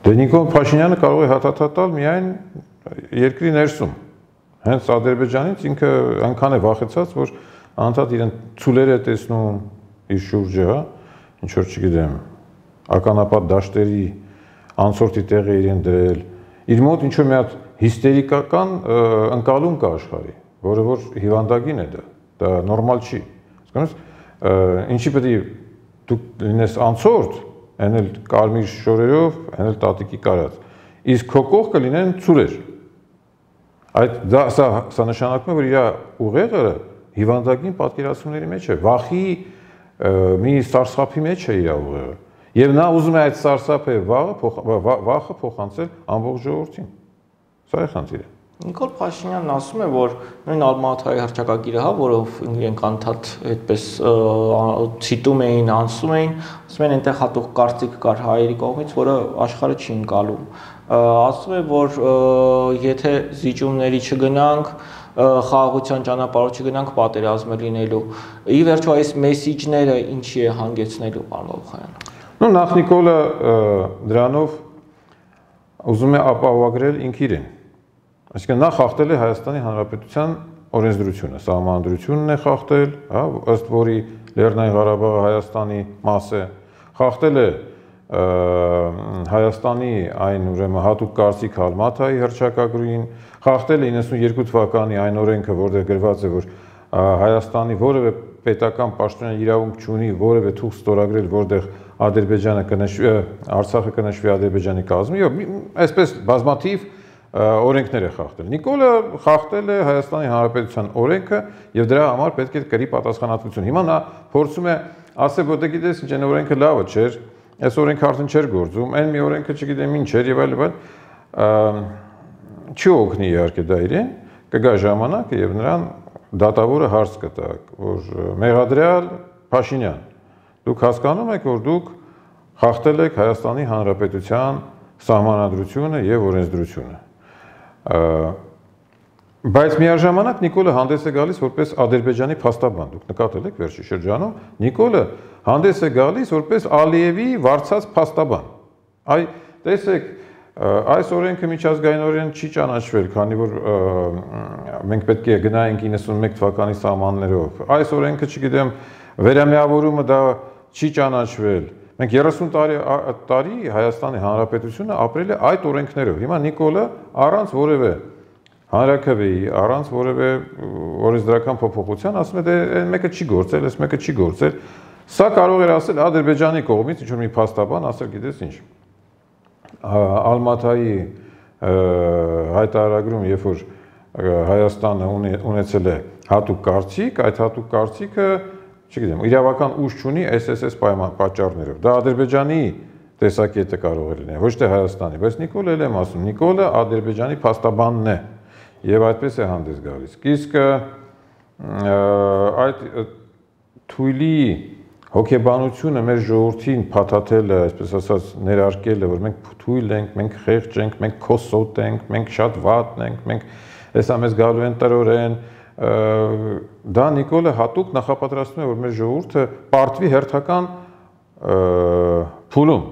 Դե Նիկոլ Փաշինյանը կարող է հաթաթատալ միայն երկրի ներսում։ Հենց Ադրբեջանից ինքը այնքան է վախեցած, որ անդադ իրեն ցուլեր է տեսնում իր շուրջը, ինչ որ չգիտեմ, ականապատ դաշտերի անցորդի տեղ է իրեն դրել։ Իր մոտ ինչ որ մի հատ հիստերիկական ընկալում կա աշխարհի, որը որ հիվանդագին է դա նորմալ չի։ Հասկանու՞մ, ինչի պետք է դու լինես անցորդ, այն էլ կարմիր շորերով, այն էլ տատիկի կարած։ Իսկ քո կողքը լինեն ցուրեր։ Սա նշանակում է, որ իր ուղեղը հիվանդագին պատկերացումների մեջ է, վախի մի սարսափի մեջ է իր ուղեղը։ Եվ նա ուզում է այդ սարսափը վախը փոխանցել ամբողջ ժողովրդին։ Սա է խնդիրը։ Նիկոլ Փաշինյանն ասում է, որ նույն Ալմաթայի հռչակագիրը, որով իրենք անդադ այդպես ցիտում էին, անցում էին, ասում են այնտեղ հատուկ կարծիք կար հայերի կողմից, որը աշխարհը չի ընկալում։ Ասում է, որ եթե զիջումների չգնանք, խաղաղության ճանապարհով չգնանք, պատերազմ է լինելու։ Ի վերջո այս մեսիջները ինչի է հանգեցնելու, պարոն Բաբախանյան։ Ну, նախ Նիկոլը դրանով ուզում է ապահովագրել ինքն իրեն։ Այսինքն նա խախտել է Հայաստանի Հանրապետության օրենսդրությունը, սահմանադրությունն է խախտել, հա, ըստ որի Լեռնային Ղարաբաղը Հայաստանի մաս է, խախտել է Հայաստանի այն ուրեմն հատուկ կարծիք Ալմաթայի հռչակագրին, խախտել է 92 թվականի այն օրենքը, որտեղ գրված է, որ Հայաստանի որևէ պետական պաշտոնյա իրավունք չունի որևէ թուղթ ստորագրել, որտեղ Ադրբեջանը կնշվի, Արցախը կնշվի Ադրբեջանի կազմի, եւ այսպես բազմաթիվ օրենքներ է խախտել։ Նիկոլը խախտել է Հայաստանի Հանրապետության օրենքը եւ դրա համար պետք է կրի պատասխանատվություն։ Հիմա նա փորձում է ասել, որ դե գիտես ինչ այն օրենքը լավը չէր, այս օրենքը արդեն չէր գործում, այն մի օրենքը չգիտեմ ինչ էր եւ այլ, չի օգնի իհարկե դա իրեն, կգա ժամանակը եւ նրան դատավորը հարց կտա, որ մեղադրյալ Փաշինյան, դուք հասկանում եք, որ դուք խախտել եք Հայաստանի Հանրապետության սահմանադրությունը եւ օրենսդրությունը։ Բայց միաժամանակ Նիկոլը հանդես է գալիս որպես Ադրբեջանի փաստաբան, դուք նկատել եք վերջի շրջանում, Նիկոլը հանդես է գալիս որպես Ալիևի վարձած փաստաբան։ Այ տեսեք, այս օրենքը միջազգայինորեն չի ճանաչվել, քանի որ մենք պետք է գնայինք 91 թվականի սահմաններով։ Այս օրենքը, չգիտեմ, վերամիավորումը դա չի ճանաչվել։ Մենք 30 տարի Հայաստանի Հանրապետությունը ապրել է այդ օրենքներով։ Հիմա Նիկոլը առանց որևէ հանրաքվեի, առանց որևէ օրենսդրական փոփոխության ասում է, դե այն մեկը չի գործել, այս մեկը չի գործել։ Սա կարող էր ասել Ադրբեջանի կողմից ինչ որ մի փաստաբան, ասել գիտես ինչ, Ալմաթայի հայտարարագրում, երբ որ Հայաստանը ունեցել է հատուկ կարծիք, այդ հատուկ կարծիքը, չգիտեմ, իրավական ուժ չունի SSS պատճառներով։ Դա Ադրբեջանի տեսակետը կարող է լինել, ոչ թե Հայաստանի, բայց Նիկոլը էլ եմ ասում, Նիկոլը Ադրբեջանի փաստաբանն է եւ այդպես է հանդես գալիս։ Իսկ այդ թույլի հոգեբանությունը մեր ժողովրդին փաթաթելը, այսպես ասած, ներարկելը, որ մենք թույլ ենք, մենք խեղճ ենք, մենք քոսոտ ենք, մենք շատ վատն ենք, մենք հեսա մեզ գալու են տրորեն, դա Նիկոլը հատուկ նախապատրաստում է, որ մեր ժողովուրդը պարտվի հերթական փուլում